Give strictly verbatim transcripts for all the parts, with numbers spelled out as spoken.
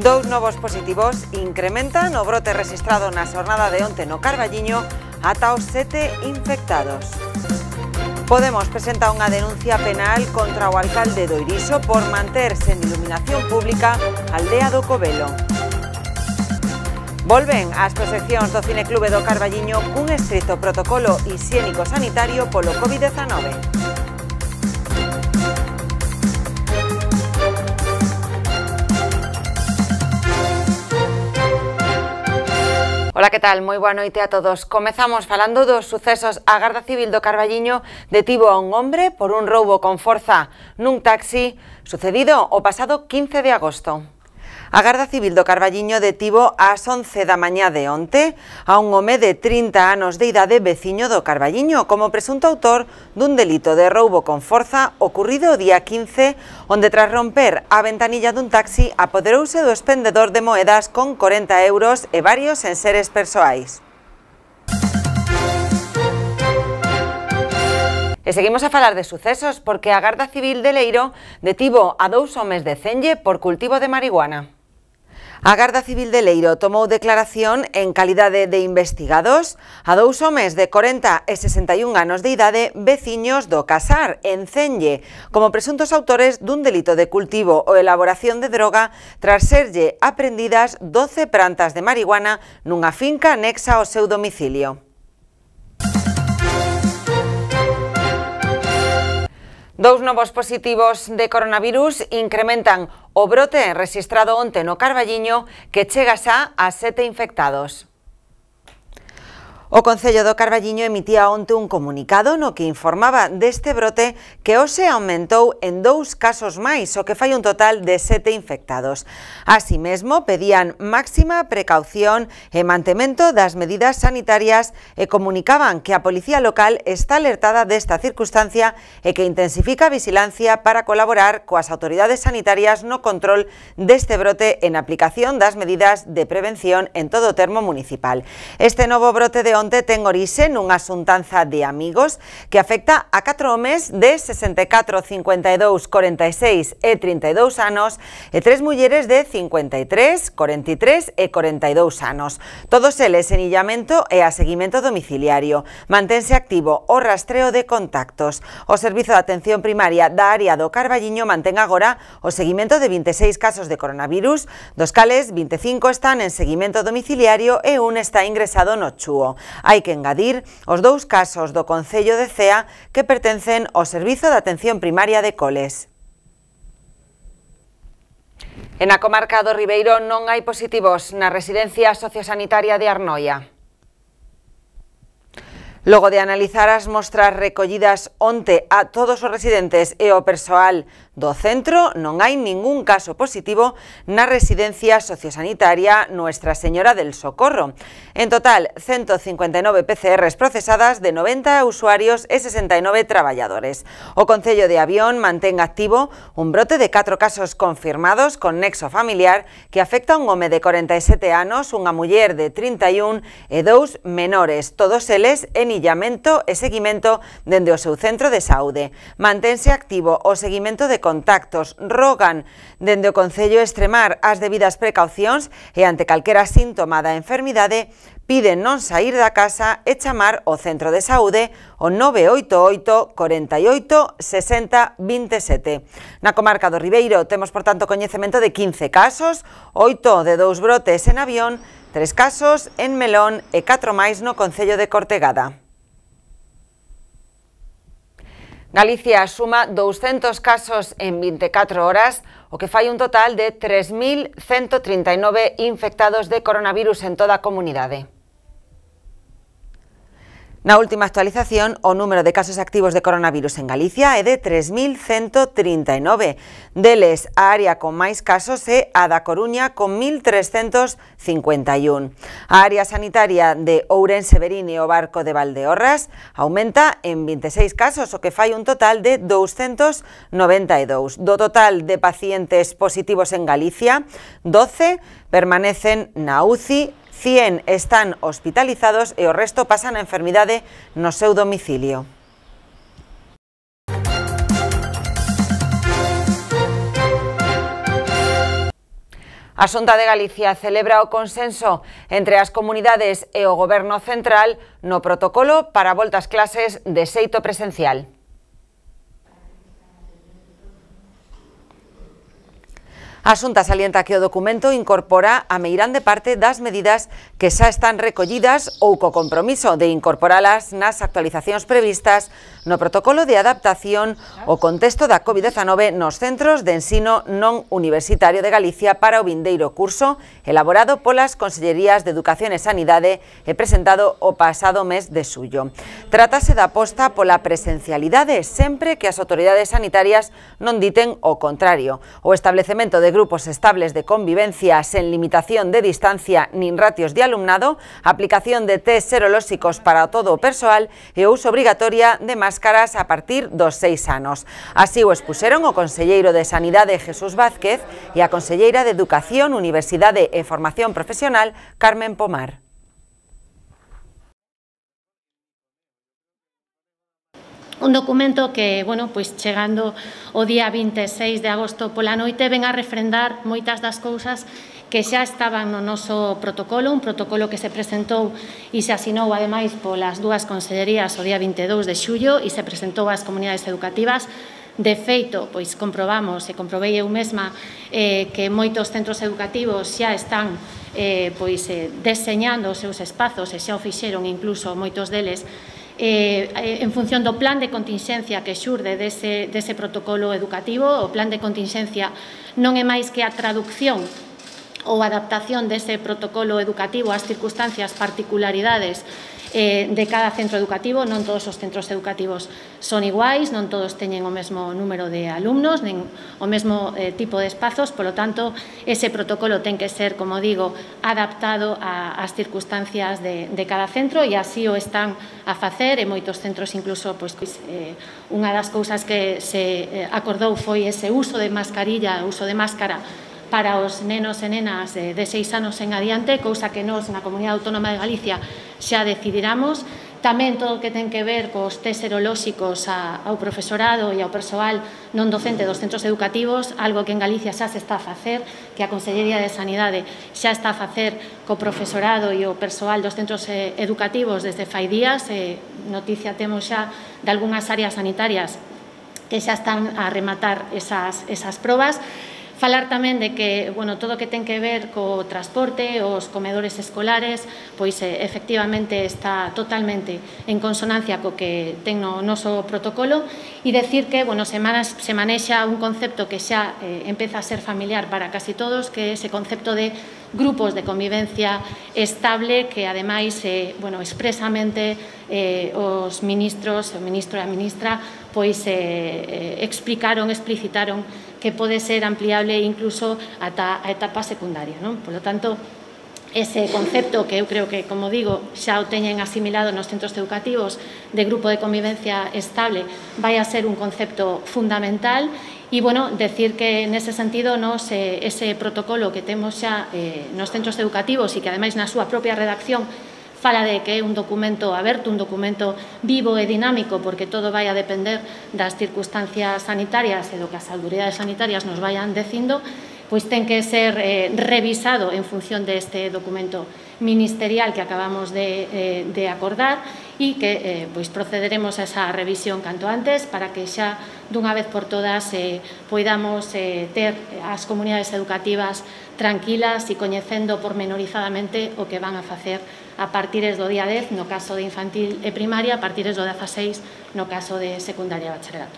Dous novos positivos incrementan o brote registrado na xornada de onte no Carballiño ata os sete infectados. Podemos presenta unha denuncia penal contra o alcalde do Iriso por manter sen iluminación pública a aldea do Covelo. Volven as proxeccións do Cineclube do Carballiño cun estricto protocolo hixiénico sanitario polo COVID diecinueve. Ola, que tal? Moi boa noite a todos. Comezamos falando dos sucesos. A Garda Civil do Carballiño detivo a un hombre por un roubo con forza nun taxi sucedido o pasado quince de agosto. A Garda Civil do Carballiño detivo ás once da mañá de onte a un home de trinta anos de idade veciño do Carballiño como presunto autor dun delito de roubo con forza ocurrido o día quince, onde tras romper a ventanilla dun taxi apoderouse do expendedor de moedas con corenta euros e varios enseres persoais. E seguimos a falar de sucesos porque a Garda Civil de Leiro detivo a dous homes de Cenlle por cultivo de marihuana. A Garda Civil de Leiro tomou declaración en calidade de investigados a dous homes de corenta e sesenta e un anos de idade veciños do Casar, en Cenlle, como presuntos autores dun delito de cultivo ou elaboración de droga tras serlle aprendidas doce plantas de marihuana nunha finca anexa ao seu domicilio. Dous novos positivos de coronavirus incrementan o brote registrado onte no Carballiño que chega xa a sete infectados. O Concello do Carballiño emitía onte un comunicado no que informaba deste brote que hoxe aumentou en dous casos máis, o que fai un total de sete infectados. Así mesmo, pedían máxima precaución e mantemento das medidas sanitarias e comunicaban que a Policía Local está alertada desta circunstancia e que intensifica a vigilancia para colaborar coas autoridades sanitarias no control deste brote en aplicación das medidas de prevención en todo o termo municipal. Este novo brote de onte ten orixe nunha xuntanza de amigos que afecta a catro homes de sesenta e catro, cincuenta e dous, corenta e seis e trinta e dous anos e tres mulleres de cincuenta e tres, corenta e tres e corenta e dous anos. Todos eles en illamento e a seguimento domiciliario. Mantense activo o rastreo de contactos. O Servizo de Atención Primaria da área do Carballiño mantén agora o seguimento de vinte e seis casos de coronavirus, dos cales vinte e cinco están en seguimento domiciliario e un está ingresado no Chúo. Hai que engadir os dous casos do Concello de Cea que pertencen ao Servizo de Atención Primaria de Coles. En a comarca do Ribeiro non hai positivos na residencia sociosanitaria de Arnoia. Logo de analizar as mostras recollidas onte a todos os residentes e o persoal do centro, non hai ningún caso positivo na residencia sociosanitaria Nuestra Señora del Socorro. En total, ciento cincuenta e nove P C Rs procesadas de noventa usuarios e sesenta e nove traballadores. O Concello de Avión mantén activo un brote de catro casos confirmados con nexo familiar que afecta a un home de corenta e sete anos, unha muller de trinta e un e dous menores, todos eles en illamento e seguimento dende o seu centro de saúde. Mantense activo o seguimento de contactos. Rogan dende o Concello extremar as debidas precaucións e ante calquera síntoma da enfermidade piden non saír da casa e chamar o centro de saúde o nove oito oito, corenta e oito, sesenta, vinte e sete. Na comarca do Ribeiro temos, por tanto, coñecemento de quince casos, oito de dous brotes en Avión, tres casos en Melón e catro máis no Concello de Cortegada. Galicia suma douscentos casos en vinte e catro horas, o que fai un total de tres mil ciento trinta e nove infectados de coronavirus en toda a comunidade. Na última actualización, o número de casos activos de coronavirus en Galicia é de tres mil ciento trinta e nove. Deles, a área con máis casos é a da Coruña con mil trescentos cincuenta e un. A área sanitaria de Ourense, Verín e o Barco de Valdeorras aumenta en vinte e seis casos, o que fai un total de douscentos noventa e dous. Do total de pacientes positivos en Galicia, doce permanecen na U C I, cien están hospitalizados e o resto pasan a enfermidade no seu domicilio. A Xunta de Galicia celebra o consenso entre as comunidades e o Goberno central no protocolo para a volta ás clases de xeito presencial. A Xunta salienta que o documento incorpora a meirande parte das medidas que xa están recollidas ou co compromiso de incorporalas nas actualizacións previstas no protocolo de adaptación ao contexto da COVID dezanove nos centros de ensino non universitario de Galicia para o vindeiro curso, elaborado polas Consellerías de Educación e Sanidade e presentado o pasado mes de xullo. Trátase da aposta pola presencialidade sempre que as autoridades sanitarias non diten o contrario. O establecemento de grupos estables de convivencia sen limitación de distancia nin ratios de alumnado, aplicación de test serolóxicos para todo o persoal e o uso obrigatoria de máscaras a partir dos seis anos. Así o expuseron o conselleiro de Sanidade Jesús Vázquez e a conselleira de Educación, Universidade e Formación Profesional Carmen Pomar. Un documento que, bueno, pois chegando o día vinte e seis de agosto pola noite ven a refrendar moitas das cousas que xa estaban no noso protocolo, un protocolo que se presentou e se asinou ademais polas dúas consellerías o día vinte e dous de xullo e se presentou ás comunidades educativas. De feito, pois comprobamos e comprobei eu mesma eh, que moitos centros educativos xa están eh, pois, eh, deseñando os seus espazos e xa o fixeron incluso moitos deles Eh, en función do plan de continxencia que xurde dese, dese protocolo educativo. O plan de continxencia non é máis que a traducción ou adaptación dese protocolo educativo ás circunstancias, particularidades eh, de cada centro educativo. Non todos os centros educativos son iguais, non todos teñen o mesmo número de alumnos, nen o mesmo eh, tipo de espazos, polo tanto, ese protocolo ten que ser, como digo, adaptado a, ás circunstancias de, de cada centro e así o están a facer e moitos centros incluso, pois, eh, unha das cousas que se eh, acordou foi ese uso de mascarilla, uso de máscara para os nenos e nenas de seis anos en adiante, cousa que nós na Comunidade Autónoma de Galicia xa decidiramos. Tamén todo o que ten que ver cos test serolóxicos ao profesorado e ao persoal non docente dos centros educativos, algo que en Galicia xa se está a facer, que a Consellería de Sanidade xa está a facer co profesorado e o persoal dos centros educativos desde fai días. Noticia temos xa de algunhas áreas sanitarias que xa están a rematar esas, esas probas. Falar tamén de que, bueno, todo o que ten que ver co transporte, os comedores escolares, pois eh, efectivamente está totalmente en consonancia co que ten no noso protocolo e decir que, bueno, se, manas, se manexa un concepto que xa eh, empeza a ser familiar para casi todos, que é ese concepto de grupos de convivencia estable que, ademais, eh, bueno, expresamente eh, os ministros, o ministro e a ministra, pois eh, eh, explicaron, explicitaron que pode ser ampliable incluso ata a etapa secundaria, non? Por lo tanto, ese concepto que eu creo que, como digo, xa o teñen asimilado nos centros educativos de grupo de convivencia estable, vai a ser un concepto fundamental. E, bueno, decir que nese sentido nos, eh, ese protocolo que temos xa eh, nos centros educativos e que ademais na súa propia redacción fala de que é un documento aberto, un documento vivo e dinámico, porque todo vai a depender das circunstancias sanitarias e do que as autoridades sanitarias nos vayan dicindo, pois ten que ser eh, revisado en función deste documento ministerial que acabamos de, eh, de acordar e que eh, pois procederemos a esa revisión canto antes para que xa dunha vez por todas eh, poidamos eh, ter as comunidades educativas tranquilas e coñecendo pormenorizadamente o que van a facer a partires do día dez no caso de infantil e primaria, a partires do dezaseis no caso de secundaria e bacharelato.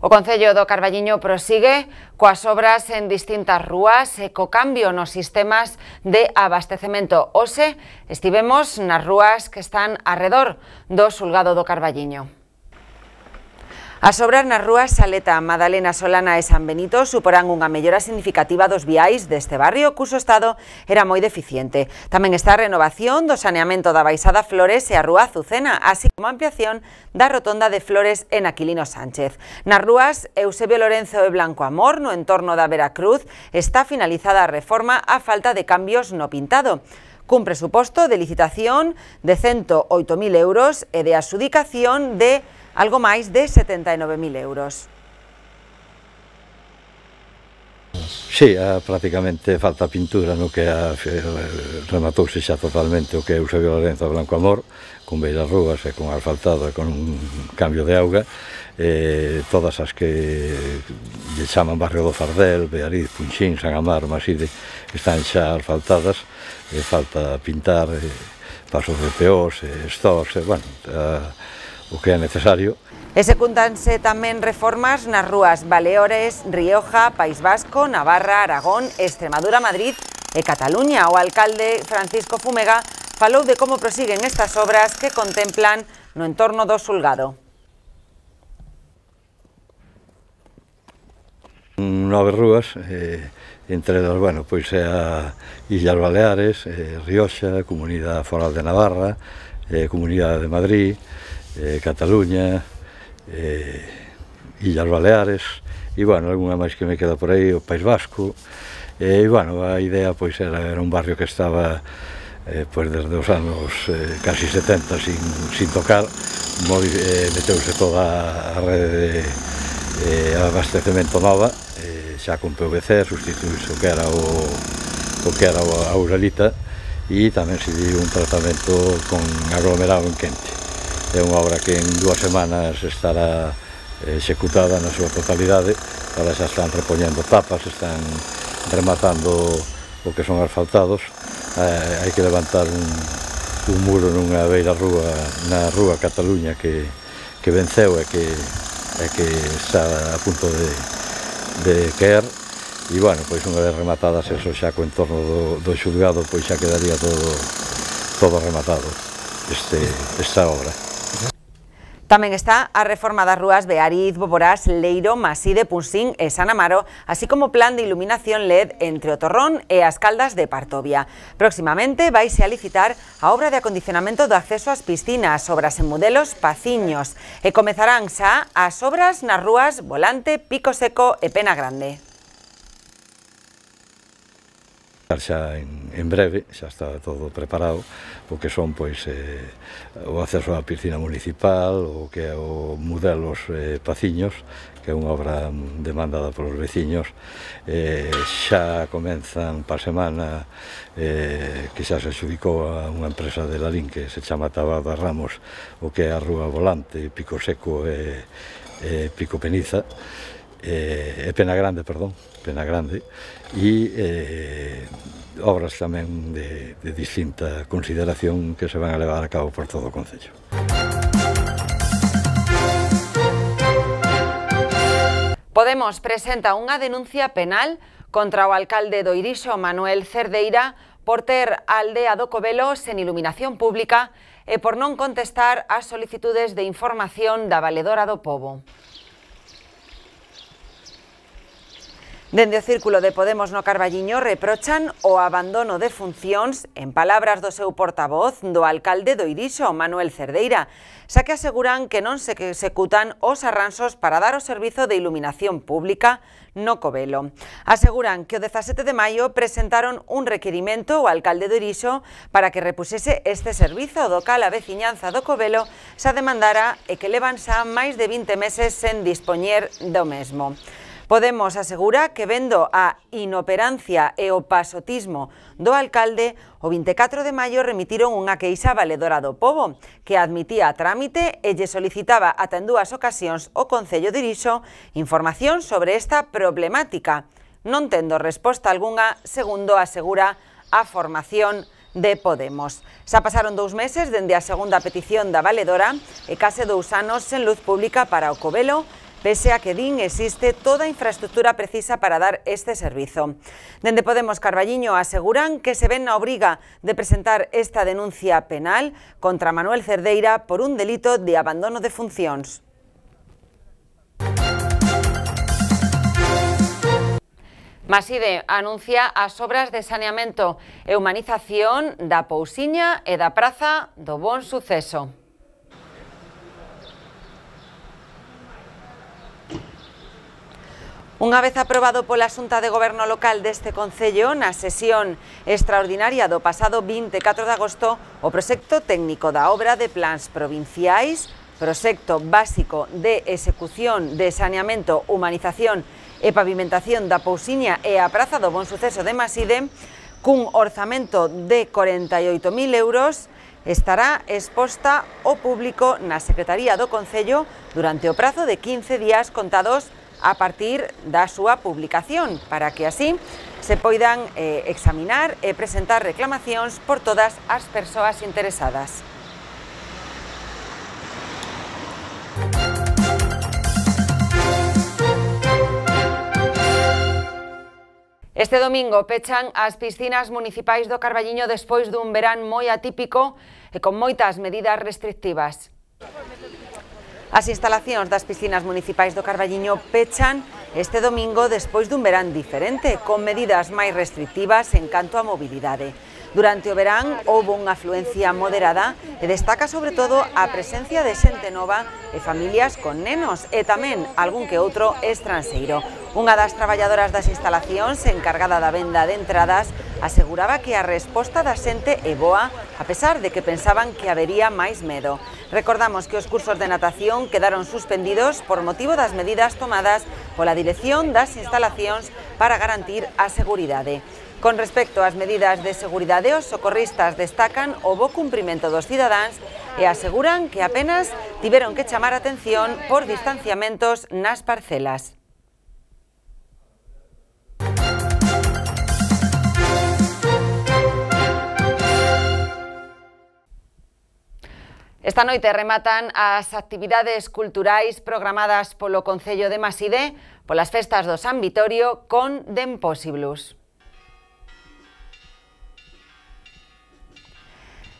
O Concello do Carballiño prosigue coas obras en distintas rúas e co cambio nos sistemas de abastecemento. Hoxe estivemos nas rúas que están arredor do Xulgado do Carballiño. As obras nas rúas Saleta, Madalena, Solana e San Benito suporán unha mellora significativa dos viais deste barrio, cuso estado era moi deficiente. Tamén está a renovación do saneamento da Baixada Flores e a Rúa Azucena, así como a ampliación da rotonda de Flores en Aquilino Sánchez. Nas rúas Eusebio Lorenzo e Blanco Amor, no entorno da Veracruz, está finalizada a reforma a falta de cambios no pintado. cun presuposto de licitación de cento oito mil euros e de adxudicación de algo máis de setenta e nove mil euros. Sí, a, prácticamente falta pintura no que a, rematouse xa totalmente o que é Eusebio Lorenzo Blanco Amor, con beiras rúas e con asfaltado e con un cambio de auga. Eh, todas as que lle chaman Barrio do Fardel, Beariz, Punxín, San Amaro, Maside, están xa asfaltadas, e falta pintar eh, pasos de peós, eh, stores, eh, bueno, a, o que é necesario. Execúntanse tamén reformas nas rúas Baleares, Rioja, País Vasco, Navarra, Aragón, Extremadura, Madrid e Cataluña. O alcalde Francisco Fumega falou de como prosiguen estas obras que contemplan no entorno do xulgado. Nove rúas, eh, entre elas, bueno, pois é a Illas Baleares, eh, Rioxa, Comunidade Foral de Navarra, eh, Comunidade de Madrid, eh, Cataluña, eh, Illas Baleares, e, bueno, alguna máis que me queda por aí, o País Vasco, e, bueno, a idea, pois, era, era un barrio que estaba, eh, pois, desde os anos eh, casi setenta sin, sin tocar, moi, eh, meteuse toda a rede de eh, abastecemento nova, eh, xa con P V C, sustituíse o que era o, o que era a Uralita, e tamén se dio un tratamento con aglomerado en quente. É unha obra que en dúas semanas estará executada na súa totalidade. Ahora xa están repoñendo tapas, están rematando o que son asfaltados. Eh, hai que levantar un, un muro nunha beira rúa, na rúa Cataluña que, que venceu e que, e que está a punto de, de caer. E, bueno, pois unha vez rematadas eso xa co entorno do, do xulgado, pois xa quedaría todo, todo rematado este, esta obra. Tamén está a reforma das rúas Beariz, Boborás, Leiro, Maside, Punxín e San Amaro, así como plan de iluminación L E D entre o Torrón e as Caldas de Partovia. Próximamente vaise a licitar a obra de acondicionamento do acceso ás piscinas, obras en modelos Paciños, e comezarán xa as obras nas rúas Volante, Pico Seco e Pena Grande. Xa en, en breve, xa está todo preparado, o que son, pois, eh, o acceso á piscina municipal, o que é o modelos eh, Paciños, que é unha obra demandada polos veciños. Eh, xa comenzan pa semana eh, que xa se adxudicou a unha empresa de Lalín que se chama Tabada Ramos, o que é a rúa Volante, Pico Seco e, e Pico Peniza, e, e Pena Grande, perdón, Pena Grande, e eh, obras tamén de, de distinta consideración que se van a levar a cabo por todo o concello. Podemos presenta unha denuncia penal contra o alcalde do Irixo, Manuel Cerdeira, por ter a aldea do Covelo sen iluminación pública e por non contestar ás solicitudes de información da Valedora do Pobo. Dende o Círculo de Podemos no Carballiño reprochan o abandono de funcións, en palabras do seu portavoz, do alcalde do Irixo, Manuel Cerdeira, xa que aseguran que non se executan os arranxos para dar o servizo de iluminación pública no Covelo. Aseguran que o dezasete de maio presentaron un requirimento ao alcalde do Irixo para que repusese este servizo, do cal a veciñanza do Covelo xa demandara e que levan xa máis de vinte meses sen dispoñer do mesmo. Podemos asegura que vendo a inoperancia e o pasotismo do alcalde, o vinte e catro de maio remitiron unha queixa Valedora do Pobo, que admitía a trámite e lle solicitaba ata en dúas ocasións o Concello de Irixo información sobre esta problemática, non tendo resposta algunha, segundo asegura a formación de Podemos. Xa pasaron dous meses dende a segunda petición da Valedora e case dous anos sen luz pública para o Covelo, pese a que din existe toda a infraestructura precisa para dar este servizo. Dende Podemos Carballiño aseguran que se ven na obriga de presentar esta denuncia penal contra Manuel Cerdeira por un delito de abandono de funcións. Maside anuncia as obras de saneamento e humanización da Pousiña e da Praza do Bon Suceso. Unha vez aprobado pola Xunta de Goberno Local deste Concello, na sesión extraordinaria do pasado vinte e catro de agosto, o proxecto técnico da obra de plans provinciais, proxecto básico de execución de saneamento, humanización e pavimentación da Pousiña e a Praza do Bon Suceso de Maside, cun orzamento de corenta e oito mil euros, estará exposta ao público na Secretaría do Concello durante o prazo de quince días contados a partir da súa publicación, para que así se poidan eh, examinar e presentar reclamacións por todas as persoas interesadas. Este domingo pechan as piscinas municipais do Carballiño despois dun verán moi atípico e con moitas medidas restrictivas. As instalacións das piscinas municipais do Carballiño pechan este domingo despois dun verán diferente, con medidas máis restrictivas en canto á mobilidade. Durante o verán houbo unha afluencia moderada e destaca sobre todo a presencia de xente nova e familias con nenos e tamén algún que outro estranxeiro. Unha das traballadoras das instalacións encargada da venda de entradas aseguraba que a resposta da xente é boa, a pesar de que pensaban que habería máis medo. Recordamos que os cursos de natación quedaron suspendidos por motivo das medidas tomadas pola dirección das instalacións para garantir a seguridade. Con respecto ás medidas de seguridade, os socorristas destacan o bo cumprimento dos cidadáns e aseguran que apenas tiveron que chamar a atención por distanciamentos nas parcelas. Esta noite rematan as actividades culturais programadas polo Concello de Maside polas festas do San Vitorio con The Impossibles.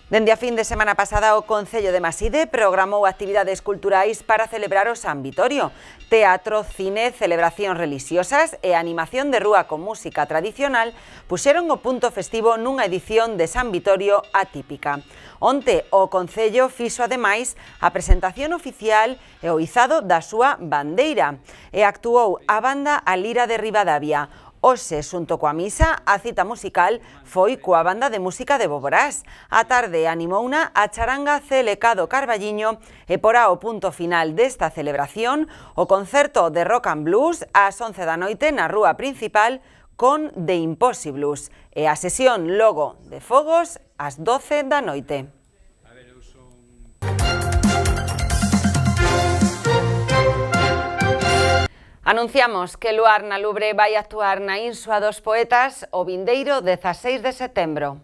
Dende a fin de semana pasada, o Concello de Maside programou actividades culturais para celebrar o San Vitorio. Teatro, cine, celebracións religiosas e animación de rúa con música tradicional puxeron o punto festivo nunha edición de San Vitorio atípica. Onte, o Concello fixo ademais a presentación oficial e o izado da súa bandeira e actuou a banda A Lira de Ribadavia. Hoxe, xunto coa misa, a cita musical foi coa banda de música de Boborás. A tarde animouna a charanga C L K do Carballiño e porá o punto final desta celebración o concerto de rock and blues ás once da noite na rúa principal con The Impossibles e a sesión logo de fogos ás doce da noite. Anunciamos que Luar na Lubre vai actuar na Insua dos Poetas o vindeiro dezaseis de setembro.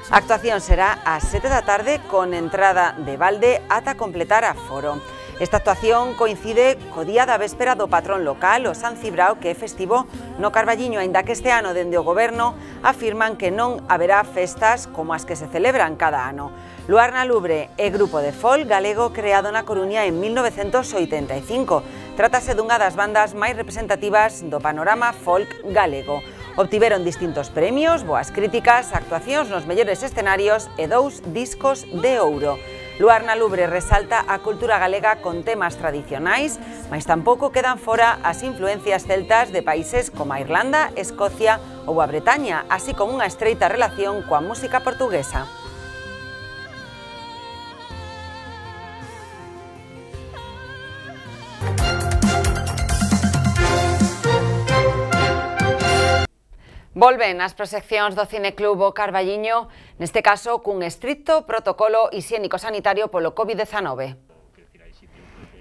A actuación será ás sete da tarde con entrada de balde ata completar aforo. Esta actuación coincide co día da véspera do patrón local, o San Cibrao, que é festivo no Carballiño, aínda que este ano dende o Goberno afirman que non haberá festas como as que se celebran cada ano. Luar na Lubre é grupo de folk galego creado na Coruña en mil novecentos oitenta e cinco. Trátase dunha das bandas máis representativas do panorama folk galego. Obtiveron distintos premios, boas críticas, actuacións nos mellores escenarios e dous discos de ouro. Luar na Lubre resalta a cultura galega con temas tradicionais, mas tampouco quedan fora as influencias celtas de países como a Irlanda, Escocia ou a Bretaña, así como unha estreita relación coa música portuguesa. Volven as proxeccións do Cineclub O Carballiño, neste caso cun estricto protocolo hixiénico-sanitario polo COVID dezanove.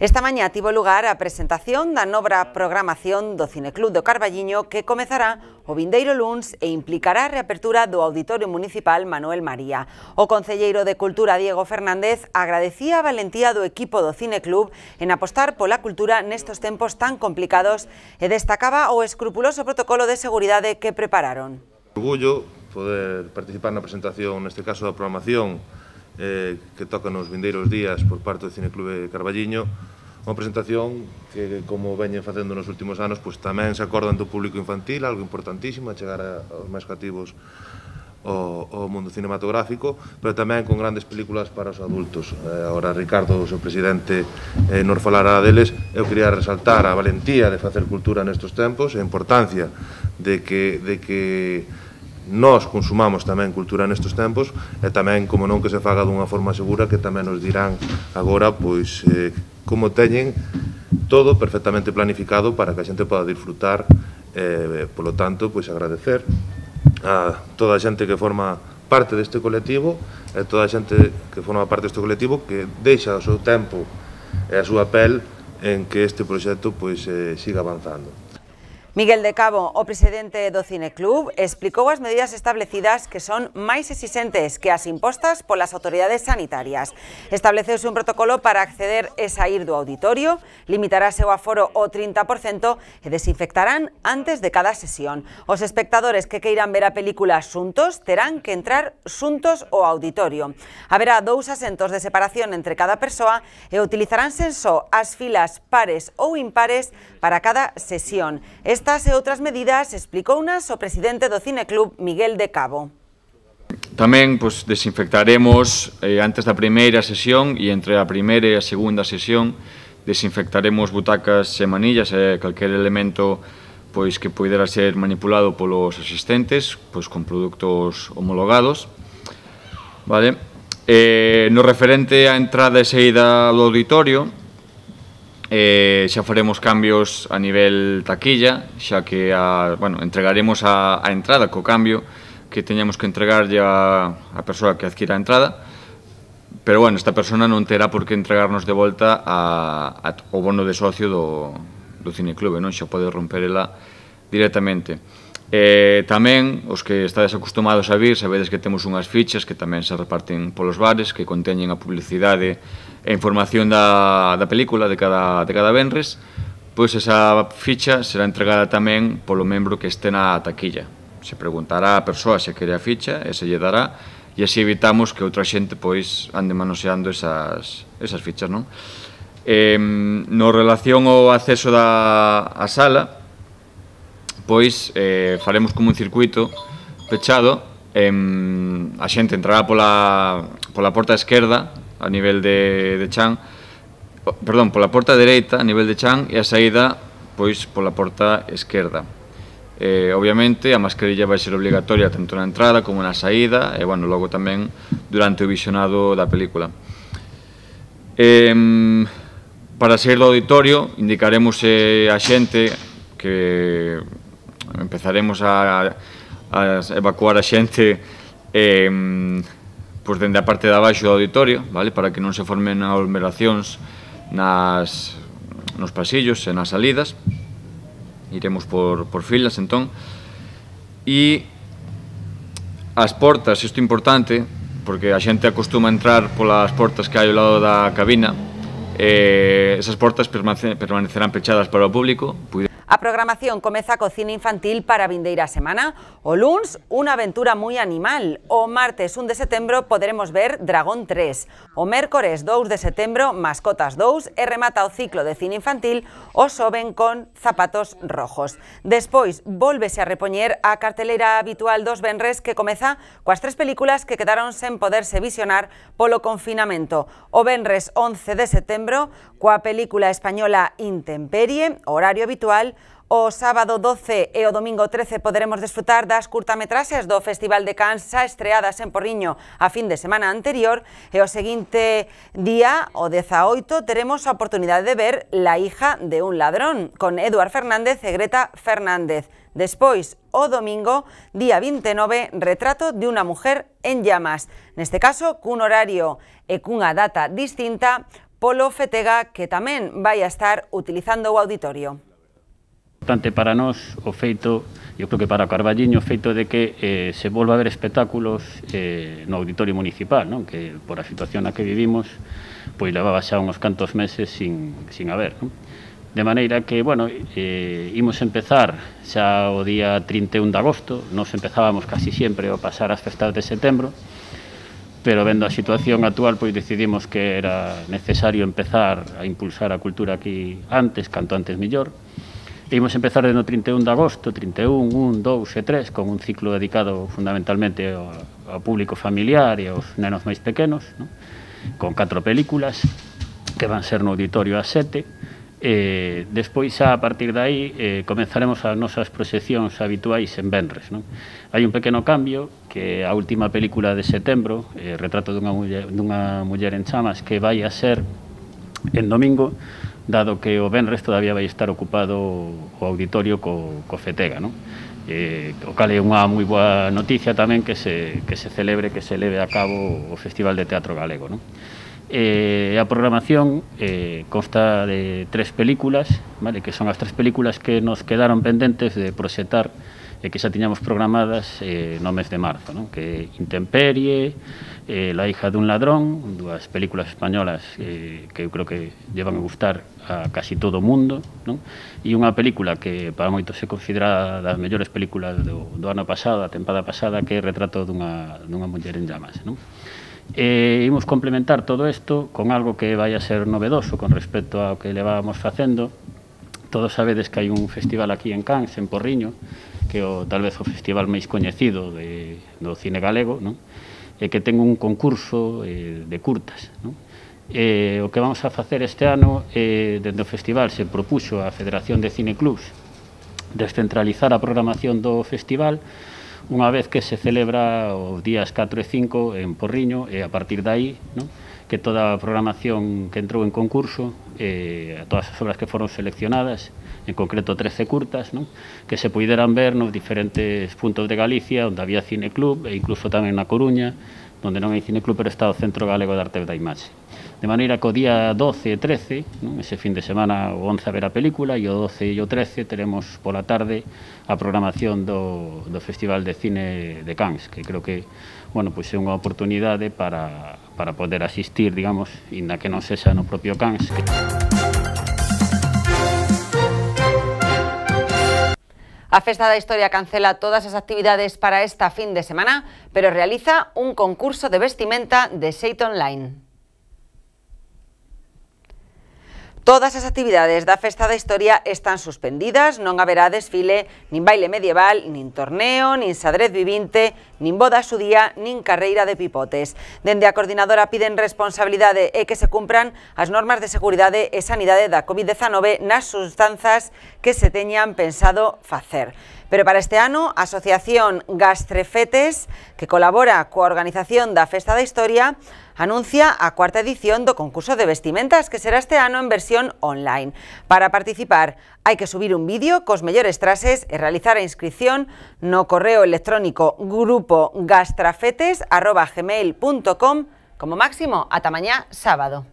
Esta mañá tivo lugar a presentación da nova programación do Cineclub do Carballiño que comezará o vindeiro luns e implicará a reapertura do Auditorio Municipal Manuel María. O concelleiro de Cultura Diego Fernández agradecía a valentía do equipo do Cineclub en apostar pola cultura nestos tempos tan complicados e destacaba o escrupuloso protocolo de seguridade que prepararon. Orgullo poder participar na presentación, neste caso da programación, eh, que toca nos vindeiros días por parte do Cineclub de Carballiño. Unha presentación que, como veñen facendo nos últimos anos, pois tamén se acordan do público infantil, algo importantísimo, a chegar a, aos máis cativos o, o mundo cinematográfico, pero tamén con grandes películas para os adultos. Eh, agora Ricardo, o seu presidente, eh, nos falará deles. Eu quería resaltar a valentía de facer cultura nestes tempos, a importancia de que, de que nós consumamos tamén cultura nestes tempos, e tamén, como non, que se faga dunha forma segura, que tamén nos dirán agora, pois, eh, como teñen todo perfectamente planificado para que a xente poda disfrutar. Eh, polo tanto, pois agradecer a toda a xente que forma parte deste colectivo e toda a xente que forma parte deste colectivo que deixa o seu tempo e a súa pel en que este proxecto pois eh, siga avanzando. Miguel de Cabo, o presidente do Cineclub, explicou as medidas establecidas que son máis exixentes que as impostas polas autoridades sanitarias. Estableceuse un protocolo para acceder e sair do auditorio, limitarase o aforo ao trinta por cento e desinfectarán antes de cada sesión. Os espectadores que queiran ver a película xuntos terán que entrar xuntos ao auditorio. Haberá dous asentos de separación entre cada persoa e utilizaránse só as filas pares ou impares para cada sesión. Estas e outras medidas explicounas o presidente do Cineclub, Miguel de Cabo. Tamén pois, desinfectaremos eh, antes da primeira sesión e entre a primeira e a segunda sesión desinfectaremos butacas e manillas e calquer elemento pois, que poidera ser manipulado polos asistentes pois, con produtos homologados. Vale? Eh, no referente á entrada e saída do auditorio, Eh, xa faremos cambios a nivel taquilla, xa que a, bueno, entregaremos a, a entrada co cambio que teñamos que entregarlle a, a persoa que adquira a entrada, pero bueno, esta persona non terá por que entregarnos de volta a, a, o bono de socio do, do Cineclube, non? Xa pode romper ela directamente. Eh, tamén, os que estades acostumados a vir, sabedes que temos unhas fichas que tamén se reparten polos bares, que conteñen a publicidade e información da, da película de cada, de cada venres, pois esa ficha será entregada tamén polo membro que este na taquilla. Se preguntará a persoa se quere a ficha e se lle dará, e así evitamos que outra xente pois ande manoseando esas, esas fichas, non? Eh, no relación ao acceso da a sala, pois eh, faremos como un circuito pechado, eh, a xente entrará pola, pola porta esquerda a nivel de, de chan, perdón, pola porta dereita a nivel de chan e a saída pois pola porta esquerda. Eh, obviamente a mascarilla vai ser obligatoria tanto na entrada como na saída e bueno, logo tamén durante o visionado da película. Eh, para sair do auditorio indicaremos eh, a xente que empezaremos a, a evacuar a xente eh, pois dende a parte de abaixo do auditorio, vale? Para que non se formen aglomeracións nas, nos pasillos e nas salidas. Iremos por, por filas, entón. E as portas, isto é importante, porque a xente acostuma a entrar polas portas que hai ao lado da cabina, eh, esas portas permanecerán pechadas para o público. A programación comeza co cine infantil para a vindeira semana. O luns, unha aventura moi animal. O martes un de setembro poderemos ver Dragón tres. O mércores dous de setembro, Mascotas dous, e remata o ciclo de cine infantil o xoven con Zapatos rojos. Despois, volvese a repoñer a carteleira habitual dos venres que comeza coas tres películas que quedaron sen poderse visionar polo confinamento. O venres once de setembro, coa película española Intemperie, horario habitual. O sábado doce e o domingo trece poderemos desfrutar das curtametraxes do Festival de Cannes xa estreadas en Porriño a fin de semana anterior, e o seguinte día, o dezaoito, teremos a oportunidade de ver La hija de un ladrón, con Eduard Fernández e Greta Fernández. Despois, o domingo, día vinte e nove, Retrato de unha mujer en llamas, neste caso cun horario e cunha data distinta polo Fetega, que tamén vai a estar utilizando o auditorio. Importante para nós o feito, eu creo que para Carballiño, o feito de que eh, se volva a ver espectáculos eh, no auditorio municipal, non? Que por a situación na que vivimos, pois levaba xa uns cantos meses sin, sin haber, non? De maneira que, bueno, eh, imos empezar xa o día trinta e un de agosto, nos empezábamos casi sempre ao pasar as festas de setembro, pero vendo a situación actual, pois decidimos que era necesario empezar a impulsar a cultura aquí antes, canto antes mellor. Imos empezar no trinta e un de agosto, trinta e un, un, dous e tres, con un ciclo dedicado fundamentalmente ao, ao público familiar e aos nenos máis pequenos, non? Con catro películas que van ser no auditorio ás sete. E despois, xa, a partir de aí, eh, comenzaremos as nosas proxeccións habituais en venres, non? Hai un pequeno cambio, que a última película de setembro, eh, Retrato dunha muller, dunha muller en chamas, que vai a ser en domingo, dado que o venres todavía vai estar ocupado o auditorio co, co Fetega, non? Eh, o cal é unha moi boa noticia tamén que se, que se celebre, que se leve a cabo o Festival de Teatro Galego, non? Eh, a programación eh, consta de tres películas, vale, que son as tres películas que nos quedaron pendentes de proxectar e que xa tiñamos programadas eh, no mes de marzo, non? Que Intemperie, eh, La hija dun ladrón, dúas películas españolas eh, que eu creo que llevan a gustar a casi todo o mundo, non? E unha película que para moitos se considera das mellores películas do, do ano pasado, a tempada pasada, que é Retrato dunha, dunha muller en llamas, non? E imos complementar todo isto con algo que vai a ser novedoso con respecto ao que levábamos facendo. Todos sabedes que hai un festival aquí en Cans, en Porriño, que é o, tal vez o festival máis coñecido de, do cine galego, non? E que ten un concurso eh, de curtas, non? E o que vamos a facer este ano, eh, dentro do festival, se propuxo a Federación de Cineclubs descentralizar a programación do festival unha vez que se celebra os días catro e cinco en Porriño, e a partir de aí, non? Que toda a programación que entrou en concurso, eh, todas as obras que foron seleccionadas, en concreto trece curtas, non? Que se puideran ver nos diferentes puntos de Galicia onde había cineclub, e incluso tamén na Coruña, onde non hai cineclub, pero está o Centro Galego de Arte da Imaxe. De maneira que o día doce e trece, non? Ese fin de semana, o once a ver a película, e o doce e o trece teremos pola tarde a programación do, do Festival de Cine de Cans, que creo que, bueno, pois é unha oportunidade para, para poder asistir, digamos, inda que non sexa no propio Cans. Que... A Festa da Historia cancela todas as actividades para esta fin de semana, pero realiza un concurso de vestimenta de xeito online. Todas as actividades da Festa da Historia están suspendidas, non haberá desfile, nin baile medieval, nin torneo, nin xadrez vivinte, nin boda xudía, nin carreira de pipotes. Dende a coordinadora piden responsabilidade e que se cumpran as normas de seguridade e sanidade da covid dezanove nas sustanzas que se teñan pensado facer. Pero para este ano, a Asociación Gastrefetes, que colabora coa organización da Festa da Historia, anuncia a cuarta edición do concurso de vestimentas, que será este ano en versión online. Para participar, hai que subir un vídeo cos mellores traxes e realizar a inscripción no correo electrónico grupo gastrafetes arroba gmail punto com, como máximo ata mañá sábado.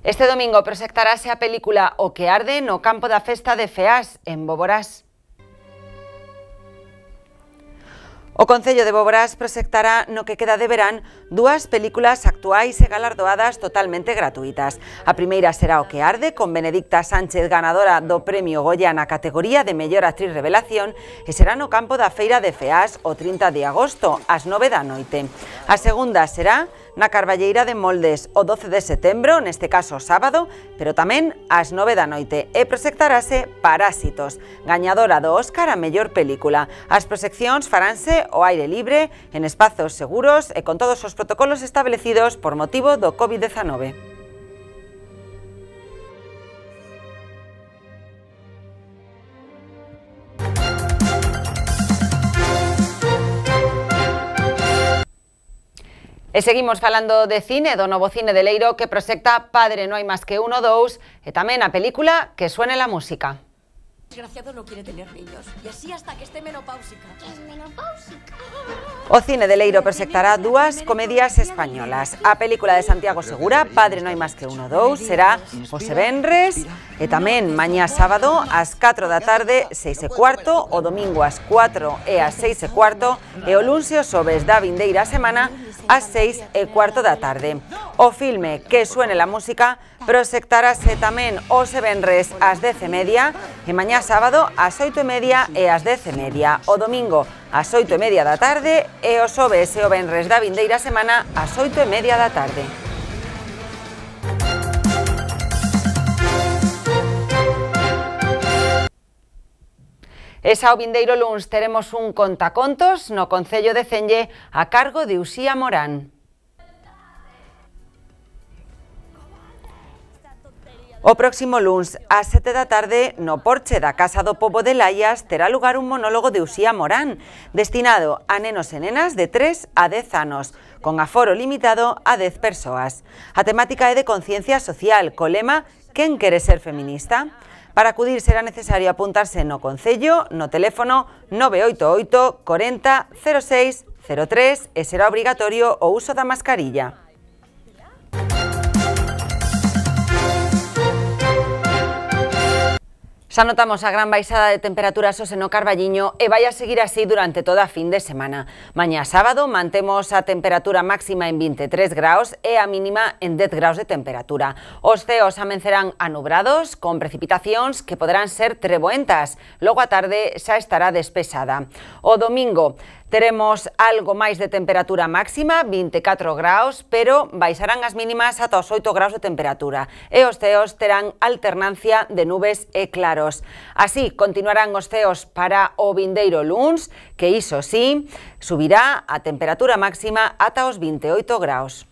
Este domingo proxectarase a película O que arde no campo da festa de Feás, en Boborás. O Concello de Boborás proxectará no que queda de verán dúas películas actuais e galardoadas totalmente gratuitas. A primeira será O que arde, con Benedicta Sánchez, ganadora do Premio Goya na categoría de Mellor Actriz Revelación, e será no campo da Feira de Feás o trinta de agosto, ás nove da noite. A segunda será na Carballeira de Moldes o doce de setembro, neste caso sábado, pero tamén ás nove da noite, e proxectarase Parásitos, gañadora do Óscar a mellor película. As proxeccións faránse ao aire libre, en espazos seguros e con todos os protocolos establecidos por motivo do covid dezanove. E seguimos falando de cine, do novo cine de Leiro que proxecta Padre no hai máis que uno dous e tamén a película Que suene la música. Desgraciado no quiere tener niños y así hasta que esté menopáusica. ¿Qué es menopáusica? O cine de Leiro proxectará dúas comedias españolas. A película de Santiago Segura, Padre no hai máis que uno dous, será os venres e tamén mañá sábado ás catro da tarde, seis e cuarto, o domingo ás cuatro e ás seis e cuarto e o luns e os xoves da vindeira semana ás seis e cuarto da tarde. O filme Que suene la música proxectarase tamén os venres ás dez e media e mañá sábado ás oito e media e ás dez e media. O domingo ás oito e media da tarde e o xoves e o venres da vindeira semana ás oito e media da tarde. E xa o vindeiro luns teremos un contacontos no Concello de Celle a cargo de Uxía Morán. O próximo luns, ás sete da tarde, no porche da Casa do Pobo de Laias, terá lugar un monólogo de Uxía Morán, destinado a nenos e nenas de tres a dez anos, con aforo limitado a dez persoas. A temática é de conciencia social, co lema "Quen quere ser feminista?". Para acudir será necesario apuntarse no Concello, no teléfono nove oito oito, corenta, cero seis, cero tres e será obrigatorio o uso da mascarilla. Xa notamos a gran baixada de temperaturas hoxe no Carballiño e vai a seguir así durante toda a fin de semana. Mañá sábado mantemos a temperatura máxima en vinte e tres graus e a mínima en dez graus de temperatura. Os ceos amencerán anubrados con precipitacións que poderán ser treboentas. Logo a tarde xa estará despexada. O domingo teremos algo máis de temperatura máxima, vinte e catro graus, pero baixarán as mínimas ata os oito graus de temperatura e os ceos terán alternancia de nubes e claros. Así, continuarán os ceos para o vindeiro luns, que iso sí, subirá a temperatura máxima ata os vinte e oito graus.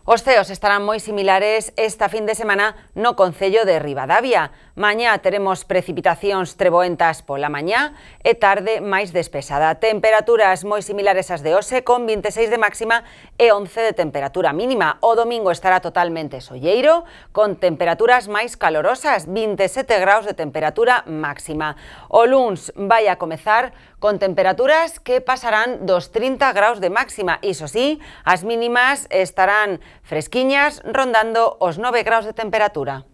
Os ceos estarán moi similares esta fin de semana no Concello de Ribadavia. Mañá teremos precipitacións treboentas pola mañá e tarde máis despexada. Temperaturas moi similares ás de hoxe, con vinte e seis de máxima e once de temperatura mínima. O domingo estará totalmente solleiro, con temperaturas máis calorosas, vinte e sete graus de temperatura máxima. O luns vai a comezar con temperaturas que pasarán dos trinta graus de máxima. Iso sí, as mínimas estarán fresquiñas, rondando os nove graus de temperatura.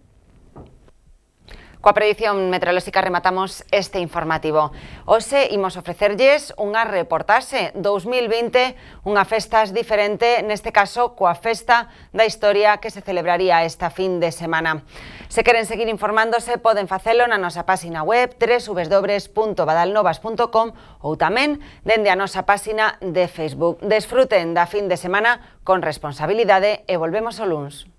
Coa predición meteorolóxica rematamos este informativo. Hoxe imos ofrecerlles unha reportaxe dous mil vinte, unha festas diferente, neste caso coa festa da historia que se celebraría esta fin de semana. Se queren seguir informándose, poden facelo na nosa páxina web w w w punto badalnovas punto com ou tamén dende a nosa páxina de Facebook. Desfruten da fin de semana con responsabilidade e volvemos o luns.